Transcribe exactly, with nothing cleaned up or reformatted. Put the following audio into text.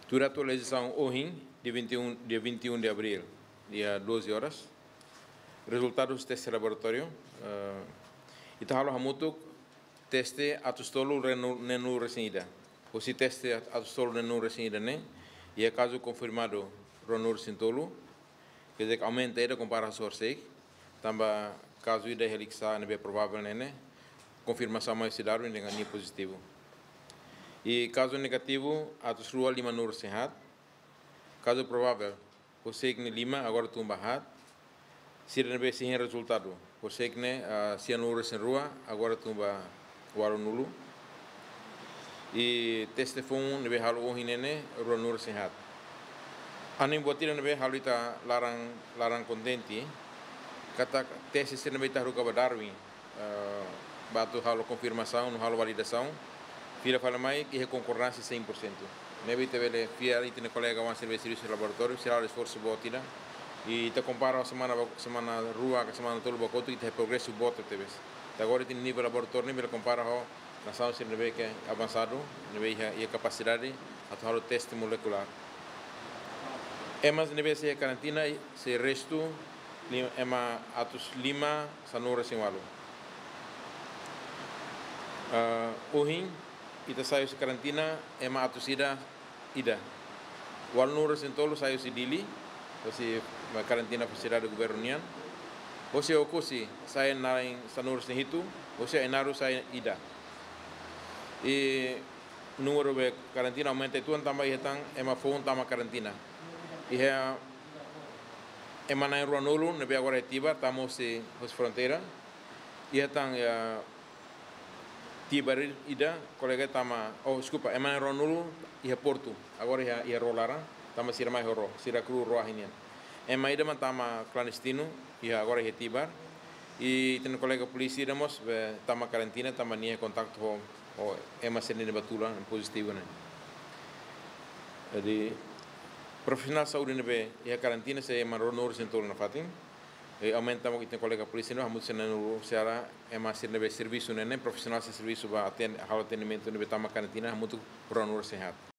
Tuir atualizasaun ohin, dia vinte e um, dia vinte e um de abril, dia doze horas. Rezultadus teste laboratóriu, eh, ita halo hamutuk teste atus tolu neenulu-, neenulu-resin-ida. Husi teste at-, atus tolu neenulu-resin-ida ne'e, iha kazu konfirmadu ruanulu-resin-tolu, quer dizer, aumenta ida kompara ho sorsek, tanba kazu ida iha Likisá ne'ebé provável ne'e ne'e, konfirmasaun mai husi Darwin dehan nia pozitivu. I kazu negativu atus rua limanulu-resin-haat, kazu provável, horisehik ne'e lima, agora tun ba haat, sira ne'ebé sei hein rezultadu, horisehik ne'e, ah, sianulu-resin-rua, agora tun ba ualunulu. I teste foun ne'ebé halo ohin ne'e ne'e ruanulu-resin-haat. Anin buat ida ne'ebé halo ita laran, laran kontente, katak teste sira ne'ebé ita haruka ba Darwin, eh, ba atu halo konfirmasaun, no halo validasaun, fila fali mai iha konkordánsia cem por cento. Ne'ebé ita bele fiar ita-nia kolega oan sira ne'ebé servisu iha laboratóriu, sira halo esforsu boot ida. I ita kompara ho semana ba-, semana rua ka semana tolu ba kotuk, ita iha progresu boot tebes. Ita agora ita-nia nivel laboratóriu ne'e bele kompara ho nasaun sira ne'ebé ke avansadu, ne'ebé iha, iha kapasidade atu halo teste molekulár. Ema ne'ebé sei karantina, sei restu, li-, ema atus lima sanulu-resin-ualu. Ah, ohin, ita sai husi karantina, ema atus ida, ida. Ualunulu-resin-tolu sai husi Dili, husi karantina fasilidade governu nian. Husi Oekusi sai na'in sanulu-resin-hitu, husi Ainaro sai ida. I númeru be karantina aumenta uitoan tanba iha tan ema foun tama karantina. Iha ema na'in-ruanulu ne'ebé agora iha Tibar, tama husi, husi fronteira. Iha tan, ya, Tibar ida, kolega tama, oh, deskulpa, ema na'in-ruanulu iha Portu, agora iha, iha ró laran, tanba sira mai ho ró, sira kru ró ahi nian. Ema ida mak tama klandestinu, iha agora iha Tibar. I ita-nia kolega polísia ida mós be tama karantina, tanba nia kontaktu ho, ho ema sira ne'ebé tula pozitivu ne'e. Jadi, profisionál saúde ne'ebé iha karantina sei ema ruanulu-resin-tolu nafatin. I aumenta mós ita-nia kolega polísia ne'e, hamutuk sira na'in-ruanulu, sira ema sira ne'ebé servisu ne'e ne'e, profisionál sira servisu ba aten-, halo atendimentu ne'ebé tama karantina, hamutuk ruanulu-resin-haat.